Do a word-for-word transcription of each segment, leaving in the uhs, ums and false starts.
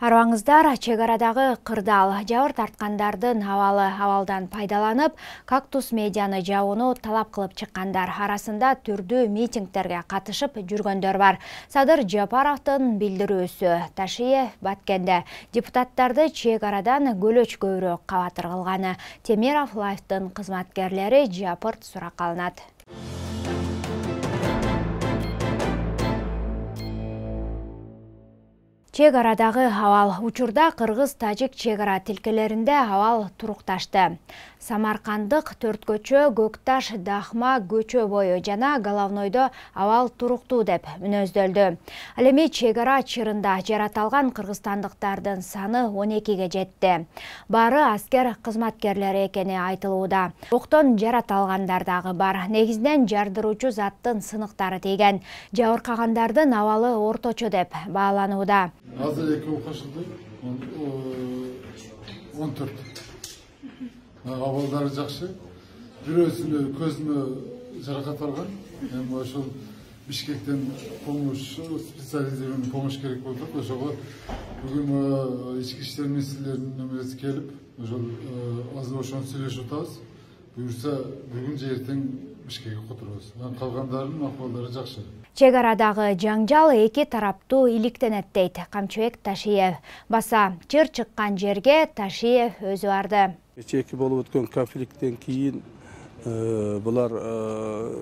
Арбаңыздар, чек арадагы кырдаал жабыр тарткандардын абалы абалдан пайдаланып, кактус медианы жабууну талап кылып чыккандар арасында түрдүү митингдерге катышып жүргөндөр бар. Садыр Жапаровдун билдирүүсү Ташиев Баткенде депутаттарды чек арадан көлөч көбүрөөк кабатыр кылганы. Темиров Лайфтын кызматкерлери жапырт суракка алынат. Чек арадагы абал учурда кыргыз-тажик чек ара тилкелеринде абал турукташты. Самаркандык Төрткөчө, Көкташ, Дахма көчө бою жана Головнойдо абал туруктуу деп мүнөздөлдү. Ал эми чек ара чырында жараталган кыргызстандыктардын саны он экиге жетти. Баары аскер кызматкерлери экени айтылууда. Октон жараталгандар дагы бар. Негизинен жардыруучу заттын сыныктары тийген. Жабыркагандардын абалы орточо деп бааланууда. Азыр эки окушулду он төрт. Абалдары жакшы. Бирөөсүнө көзүнө жаракат алган. Эми ошол Бишкектен помощь, специализированный помощь керек болду. Ошого бүгүн ички иштер министрлеринин немеси келип, ошол азыр ошону сүйлөшүп атабыз. Буюрса бүгүн же эртең Бишкекке которобуз. Калгандарынын акыбалдары жакшы. Чек арадагы жаңжал эки тараптуу иликтенет дейт Камчыбек Ташиев. Баса чыр чыккан жерге Ташиев өзү барды. Кечээки болуп өткөн конфликттен кийин булар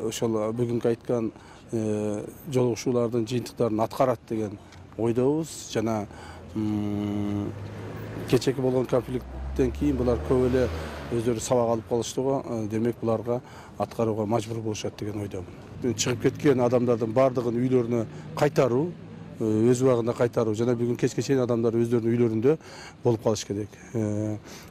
ошол бүгүнкү айткан жолугушуулардын жыйынтыктарын аткарат деген ойдобуз. Жана кечээки болгон конфликттен кийин булар көп эле өздөрү сабак алып калышты го. Демек буларга аткарууга мажбур болушат деген ойдомун. Чыгып кеткен адамдардын бардыгын үйлөрүнө кайтаруу, өз убагында кайтаруу жана бүгүн кечке чейин адамдар өздөрүнүн үйлөрүндө болуп калыш керек.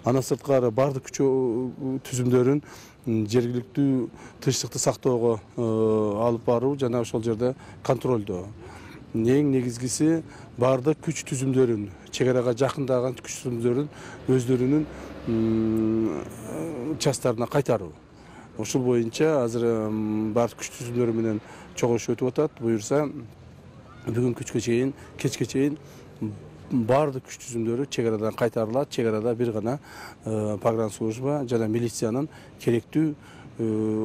Андан сырткары бардык күчөө түзүмдөрүн жергиликтүү тынчтыкты сактоого алып баруу жана ошол жерде контролдоо. Эң негизгиси бардык күч түзүмдөрүн, чек арага жакындаган күч түзүмдөрүн өздөрүнүн частарына кайтаруу. Ошол боюнча азыр бардык күч түзүмдөрү менен чогулуш өтүп атат. Буюрса бүгүн күчкө чейин, кечке чейин бардык күч түзүмдөрү чек арадан кайтарылат. Чек арада бир гана погранслужба жана милициянын керектүү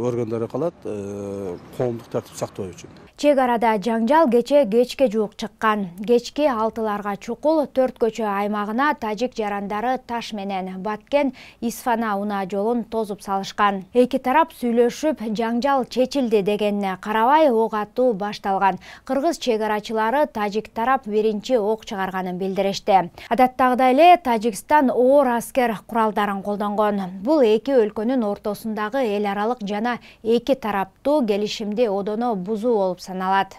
органдары калат коомдук тартип сактоо үчүн. Чек арада жаңжал кече кечке жуук чыккан. Кечки алтыларга чукул Төрткөчө аймагына тажик жарандары таш менен Баткен Исфана унаа жолун тозуп салышкан. Эки тарап сүйлөшүп, жаңжал чечилди дегенине карабай ок атуу башталган. Кыргыз чек арачылары тажик тарап биринчи ок чыгарганын билдиришти. Адаттагыдай эле Тажикстан оор аскер куралдарын колдонгон. Бул эки өлкөнүн ортосундагы эл аралык жана эки тараптуу келишимди одоно бузуу болуп саналат.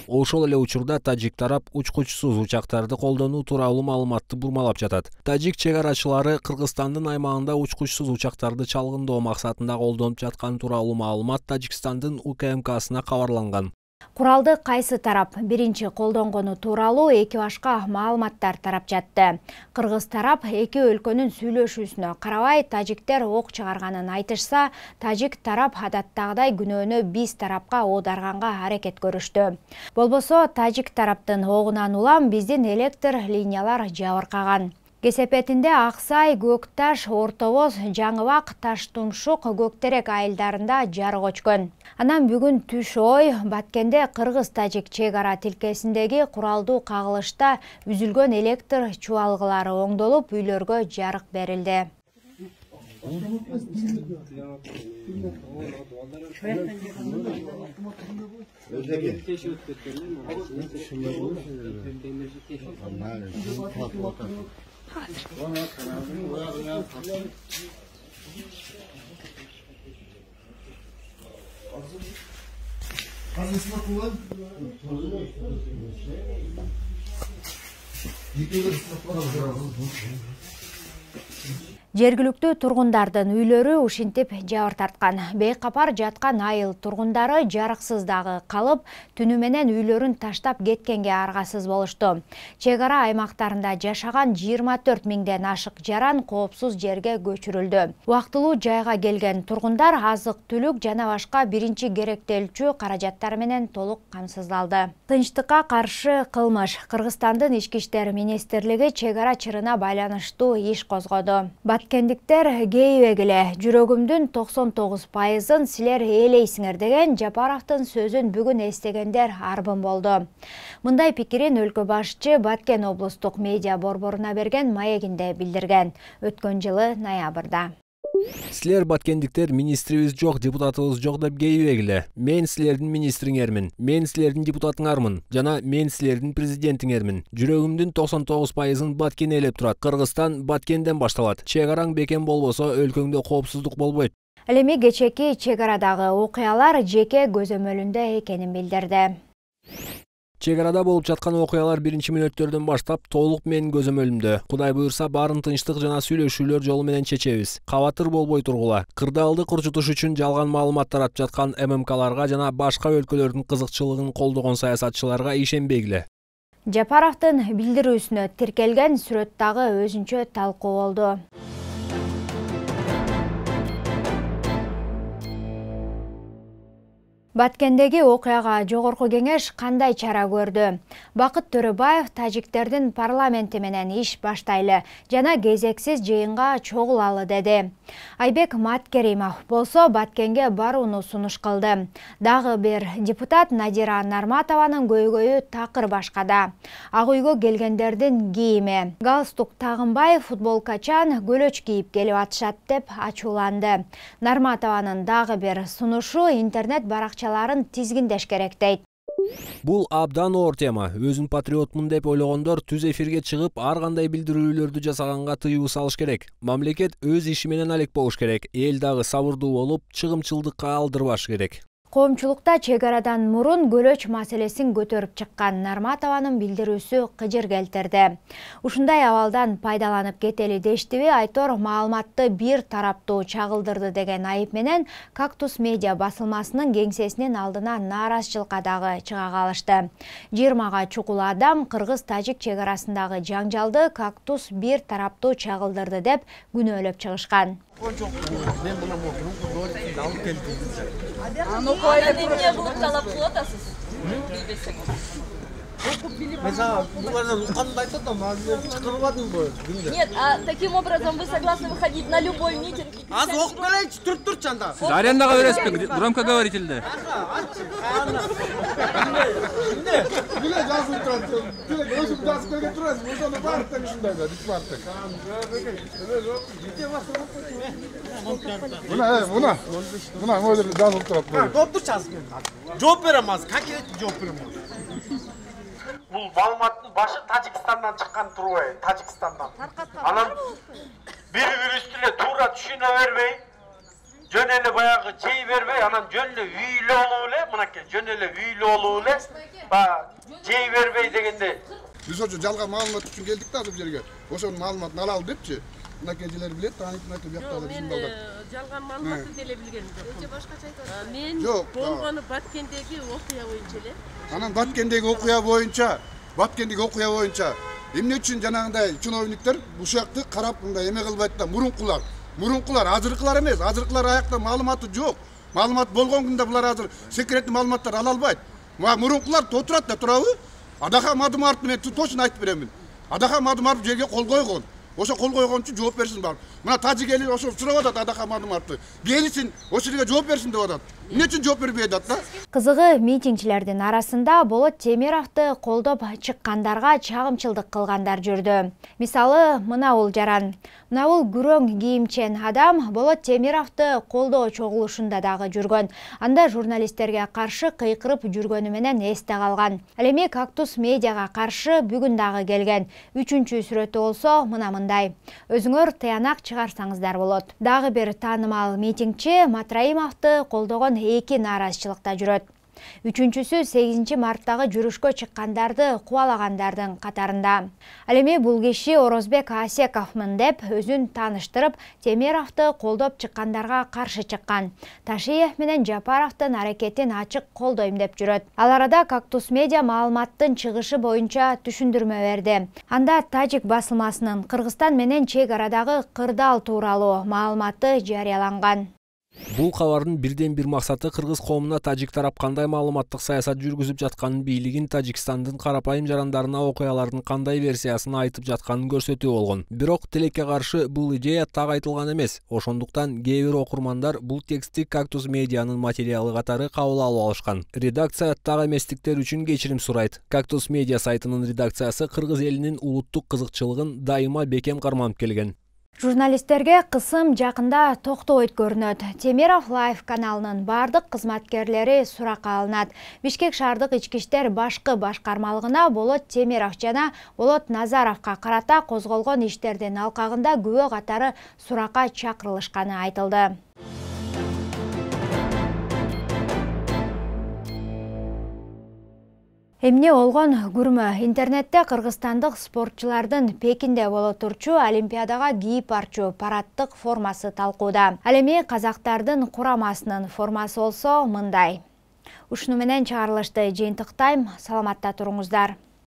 Ошол эле учурда тажик тарап учкучсуз учактарды колдонуу тууралуу маалыматты бурмалап жатат. Тажик чек арачылары Кыргызстандын аймагында учкучсуз учактарды чалгындоо максатында колдонуп жатканы тууралуу маалымат Тажикстандын У К М Ксына кабарланган. Куралды кайсы тарап биринчи колдонгону тууралуу эки башка маалыматтар тарап жатты. Кыргыз тарап эки өлкөнүн сүйлөшүүсүнө карабай тажиктер ок чыгарганын айтышса, тажик тарап адаттагыдай күнөөнү биз тарапка оодарганга аракет көрүштү. Болбосо тажик тараптын огунан улам биздин электр линиялар жабыркаган. Кесепетинде Аксай, Көкташ, Ортобоз, Жаңыбак, Таштумшук, Көктерек айылдарында жарык өчкөн. Анан бүгүн түш ой Баткенде кыргыз-тажик чек ара тилкесиндеги куралдуу кагылышта үзүлгөн электр чубалгылары оңдолуп, үйлөргө жарык берилди. Жергиликтүү тургундардын үйлөрү ушинтип жабыр тарткан. Бейкапар жаткан айыл тургундары жарыксыз дагы калып, түнү менен үйлөрүн таштап кеткенге аргасыз болушту. Чек ара аймактарында жашаган жыйырма төрт миңден ашык жаран коопсуз жерге көчүрүлдү. Убактылуу жайга келген тургундар азык-түлүк жана башка биринчи керектелчү каражаттар менен толук камсыздалды. Тынчтыкка каршы кылмыш. Кыргызстандын ички иштер министрлиги чек ара чырына байланыштуу иш козгоду. Баткендиктер кейбегиле жүрөгүмдүн токсон тогуз пайызын силер ээлейсиңер деген Жапаровдун сөзүн бүгүн эстегендер арбын болду. Мындай пикирин өлкө башчы Баткен облустук медиа борборуна берген маегинде билдирген өткөн жылы ноябрда. Силер баткендиктер министрибиз жок, депутатыбыз жок деп кейбегиле. Мен силердин министриңермин, мен силердин депутатыңармын жана мен силердин президентиңермин. Жүрөгүмдүн токсон тогуз пайызын Баткен ээлеп турат. Кыргызстан Баткенден башталат. Чек араң бекем болбосо өлкөңдө коопсуздук болбойт. Ал эми кечээки чек арадагы окуялар жеке көзөмөлүндө экенин билдирди. Чек арада болуп жаткан окуялар биринчи мүнөттөрдөн баштап толук менин көзөмөлүмдө. Кудай буйрса баарын тынчтык жана сүйлөшүүлөр жолу менен чечебиз. Кабатыр болбой тургула. Кырдаалды курчутуш үчүн жалган маалымат таратып жаткан эм эм каларга жана башка өлкөлөрдүн кызыкчылыгын колдогон саясатчыларга ишенбегиле. Жапаровдун билдирүүсүнө тиркелген сүрөт дагы өзүнчө талкуу болду. Баткендеги окуяга жогорку кеңеш кандай чара көрдү? Бакыт Төрөбаев тажиктердин парламенти менен иш баштайлы жана кезексиз жыйынга чогулалы деди. Айбек Маткеримов болсо Баткенге барууну сунуш кылды. Дагы бир депутат Надира Нарматованын көйгөйү такыр башкада. Ак үйгө келгендердин кийими. Галстук тагынбай футболкачан көлөч кийип келип атышат деп ачууланды. Нарматованын дагы бир сунушу интернет баракча тизгиндеш керек дейт. Бул абдан оор тема. Өзүн патриотмун деп ойлогондор түз эфирге чыгып, ар кандай билдирүүлөрдү жасаганга тыюу салыш керек. Мамлекет өз иши менен алек болуш керек. Эл дагы сабырдуу болуп, чыгымчылдыкка алдырбаш керек. Коомчулукта чек арадан мурун көлөч маселесин көтөрүп чыккан Нарматованын билдирүүсү кыжыр келтирди. Ушундай абалдан пайдаланып кетели дештиби Айтор маалыматты бир тараптуу чагылдырды деген айып менен Кактус медиа басылмасынын кеңсесинин алдына нааразычылыкка дагы чыга калышты. жыйырмага чукул адам кыргыз-тажик чек арасындагы жаңжалды Кактус бир тараптуу чагылдырды деп күнөөлөп чыгышкан. Аны эмне кылып талап кылып атасыз? Нет, а таким образом вы согласны выходить на любой митинг? Аз окуп келейинчи, туруп турчу анда. Арендага бересизби? Громко говорительде. Биле жазып турат. Биле өзүм жазып келген турасыз. Ошону бар тең ушундай да, бүт бар тең. Мына, мына. Мына мына жазып турат. Жооп турчу азыр мен. Жооп берем азыр. Как керек жооп берем. Бул маалыматтын башы Тажикстандан чыккан турбайбы? Тажикстандан. Анан бири-бири үстүнө туура түшүнө бербей, жөн эле баягы жей бербей, анан жөн эле үйлүү болуп эле, мынакей жөн эле үйлүү болуп эле, баягы жей бербей дегенде. Биз ошо жалган маалымат үчүн келдик да бул жерге. Ошонун маалыматын алалы депчи. Мынакейжилер билет, таанык мынакей бияктагы биздин балдар. Мен жалган маалыматты деле билгеним жок. Өчө башкача айтасыз. Мен Жок, болгону Баткендеги окуя боюнча эле. Анан Баткендеги окуя боюнча, Баткендеги окуя боюнча эмне үчүн жанагындай чиновниктер ушакты карап мындай эме кылбайт да, мурункулар. Мурункулар, азыркылар эмес, азыркылар аякта маалыматы жок. Маалымат болгон күндө булар азыр секретный маалыматтарды ала албайт. Мурункулар отурат да турабы? Адахам Адымаровду мен точно айтып беремин. Адахам Адымаров жерге кол койгон. Ошо кол койгон үчүн жооп берсин бар. Мына тажик эли ошо сурап атат Адахам Адымаровду. Келсин, ошо жерге жооп берсин деп атат. Эмне үчүн жооп бербей атат да? Кызыгы митингчилердин арасында Болот Темировду колдоп чыккандарга чагымчылдык кылгандар жүрдү. Мисалы, мына бул жаран. Мына бул күрөң кийимчен адам Болот Темировду колдоо чогулушунда дагы жүргөн. Анда журналисттерге каршы кыйкырып жүргөнү менен эсте калган. Ал эми Кактус медиага каршы бүгүн дагы келген. Үчүнчү сүрөтү болсо мына мындай. Өзүңөр тыянак чыгарсаңыздар болот. Дагы бир таанымал митингчи Матраимовду колдогон эки нааразычылыкта жүрөт. Үчүнчүсү сегизинчи марттагы жүрүшкө чыккандарды кубалагандардын катарында. Ал эми бул киши Орозбек Асековмун деп өзүн тааныштырып, Темировду колдоп чыккандарга каршы чыккан. Ташиев менен Жапаровдун аракетин ачык колдойм деп жүрөт. Ал арада Кактус медиа маалыматтын чыгышы боюнча түшүндүрмө берди. Анда тажик басылмасынын Кыргызстан менен чек арадагы кырдаал тууралуу маалыматы жарыяланган. Бул кабардын бирден бир максаты кыргыз коомуна тажик тарап кандай маалыматтык саясат жүргүзүп жатканын, бийлигин Тажикстандын карапайым жарандарына окуялардын кандай версиясын айтып жатканын көрсөтүү болгон. Бирок тилекке каршы бул идея так айтылган эмес. Ошондуктан кээ бир окурмандар бул текстти Кактус медианын материалы катары кабыл алып алышкан. Редакция так эместиктер үчүн кечирим сурайт. Кактус медиа сайтынын редакциясы кыргыз элинин улуттук кызыкчылыгын дайыма бекем карманып келген. Журналисттерге кысым жакында токтобойт көрүнөт. Темиров Лайв каналынын бардык кызматкерлери суракка алынат. Бишкек шаардык ички иштер башкы башкармалыгына Болот Темиров жана Болот Назаровго карата козголгон иштердин алкагында күбө катары суракка чакырылышканы айтылды. Эмне болгон күрмө? Интернетте кыргызстандык спортчулардын Пекинде боло турчу Олимпиадага кийип барчу парадтык формасы талкууда. Ал эми казактардын курамасынын формасы болсо мындай. Ушуну менен чыгарылышты жыйынтыктайм. Саламатта туруңуздар.